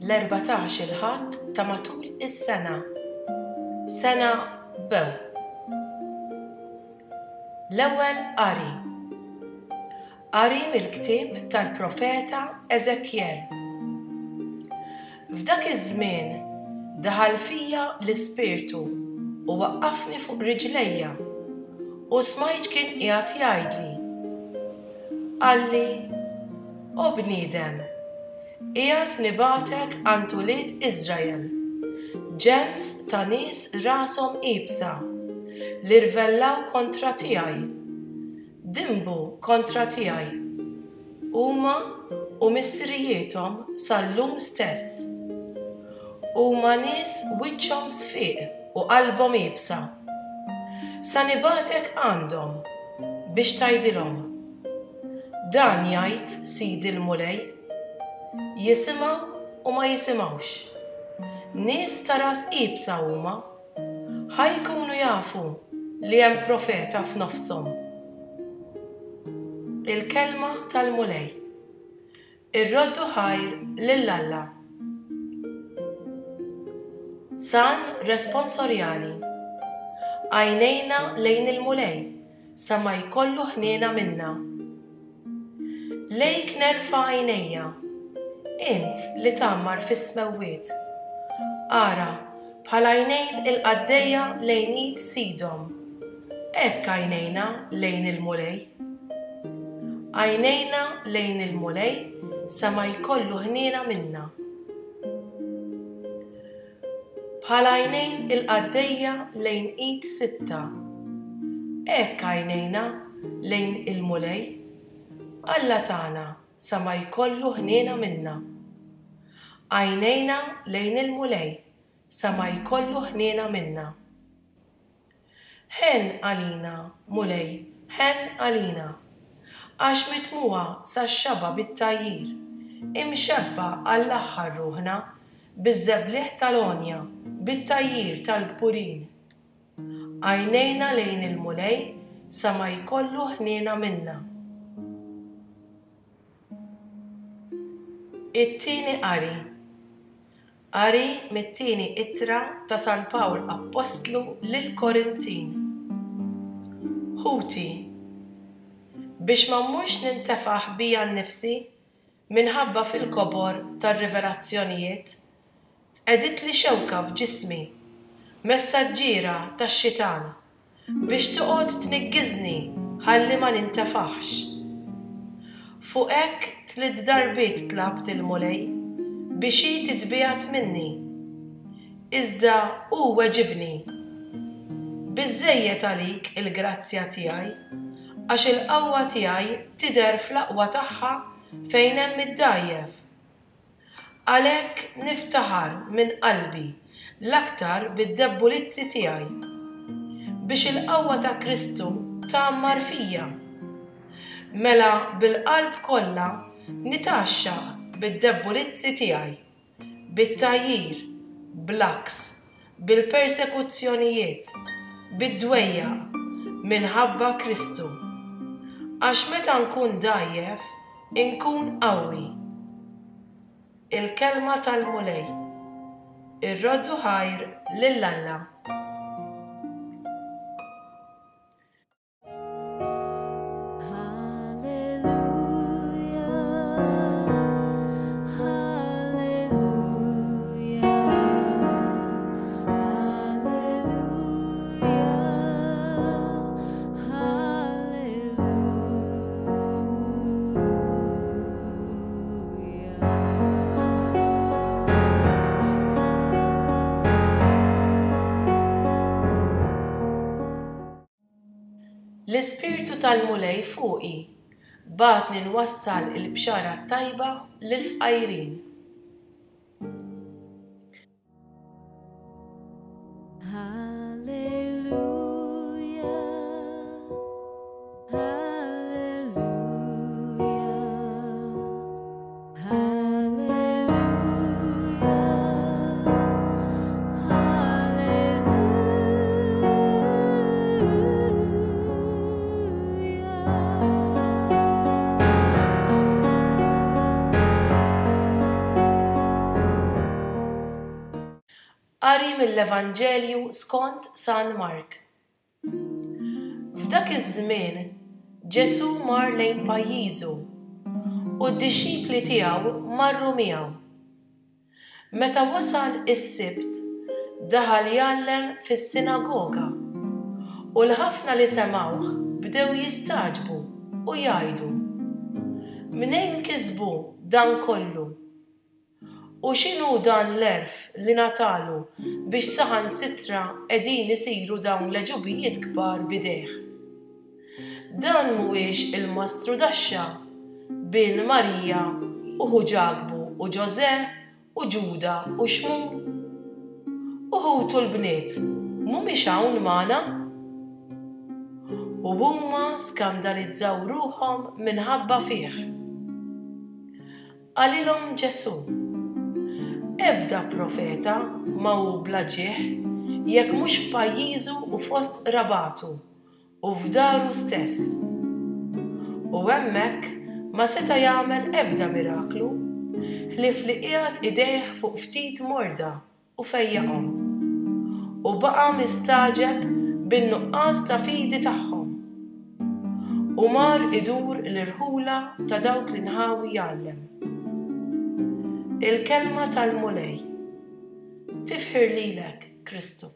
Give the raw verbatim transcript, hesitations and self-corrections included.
L-erbatax-il Ħadd ta' matul is-sena. Sena B. L-ewwel qari. Qari mill-ktieb tal-profeta Eżekjel. F'dak iż-żmien daħal fija l-Ispirtu u waqqafni fuq riġlejja u smajt kien qiegħed jgħidli. Qalli, O bniedem, qiegħed nibgħatek għand ulied Iżrael, ġens ta' nies rashom iebsa, li rvellaw kontra tiegħi, dinbu kontra tiegħi, huma u missirijiethom sal-lum stess. Huma nies wiċċhom sfiq u qalbhom iebsa. Sa nibgħatek għandhom biex tgħidilhom. Dan jgħid Sidi l-Mulej. Jisimgħu u ma jisimgħux. Nies ta' ras iebsa huma, ħa jkunu jafu li hemm profeta f'nofshom. Il-kelma tal-Mulej. Irroddu ħajr lil Alla. Salm responsorjali. Għajnejna lejn il-Mulej sa ma jkollu ħniena minna. Lejk nerfa' għajnejja, int li tgħammar fis-smewwiet. Ara, bħal għajnejn il-qaddejja lejn id sidhom, hekk għajnejna lejn il-Mulej. Għajnejna lejn il-Mulej sa ma jkollu ħniena minna. Bħal għajnejn il-qaddejja lejn id sitta, hekk għajnejna lejn il-Mulej, Alla tagħna sa ma jkollu ħniena minna. Għajnejna lejn il-Mulej sa ma jkollu ħniena minna. Ħenn għalina, Mulej, ħenn għalina, għax mitmugħa sax-xaba' bit-tgħajjir, imxebba' għall-aħħar ruħna biż-żebliħ tal-għonja, bit-tgħajjir tal-kburin. Għajnejna lejn il-Mulej sa ma jkollu ħniena minna. It-tieni qari. Qari mit-tieni ittra ta' San Pawl Appostlu lill-Korintin. Ħuti, biex ma mmurx nintefaħ bija nnifsi minħabba fil-kobor tar-rivelazzjonijiet, tqegħditli xewka f'ġismi, messaġġiera tax-xitan, biex toqgħod tniggiżni ħalli ma nintefaħx. Fuq hekk tliet darbiet tlabt il-Mulej biex hi titbiegħed minni. Iżda hu weġibni. Biżżejjed għalik il-grazzja tiegħi, għax il-qawwa tiegħi tidher fl-aqwa tagħha fejn hemm id-dgħajjef. Għalhekk niftaħar minn qalbi l-aktar bid-debbulizzi tiegħi, biex il-qawwa ta' Kristu tgħammar fija. Mela bil-qalb kollha nitgħaxxaq bid-debbulizzi tiegħi, bit-tgħajjir, bl-għaks, bil-persekuzzjonijiet, bid-dwejjaq, minħabba Kristu. Għax meta nkun dgħajjef, inkun qawwi. Il-kelma tal-Mulej. Irroddu ħajr lil Alla. L-Ispirtu tal-Mulej fuqi, bagħatni nwassal il-bxara t-tajba lill-fqajrin. Hallelujah. Qari mill-Evanġelju skont San Mark. F'dak iż-żmien Ġesù mar lejn pajjiżu u d-dixxipli tiegħu marru miegħu. Meta wasal is-Sibt, daħal jgħallem fis-sinagoga u l-ħafna li semgħuh bdew jistagħġbu u jgħidu, Mnejn kisbu dan kollu? U x'inhu dan l-għerf li ngħatalu biex saħansitra qegħdin isiru dawn l-għeġubijiet kbar b'idejh? Dan mhuwiex il-mastrudaxxa, bin Marija u ħu Ġakbu u Ġożè u Ġuda u Xmun? U ħutu l-bniet mhumiex hawn magħna? U huma skandalizzaw ruħhom minħabba fih. Qalilhom Ġesù, Ebda profeta ma hu bla ġieħ jekk mhux f'pajjiżu u fost qrabatu u f'daru stess. U hemmhekk ma seta' jagħmel ebda miraklu, ħlief li qiegħed idejh fuq ftit morda u fejjaqhom. U baqa' mistagħġeb bin-nuqqas ta' fidi tagħhom. U mar idur l-irħula ta' dawk l-inħawi jgħallem. Il-kelma tal-Mulej. Tifħir lilek, Kristu.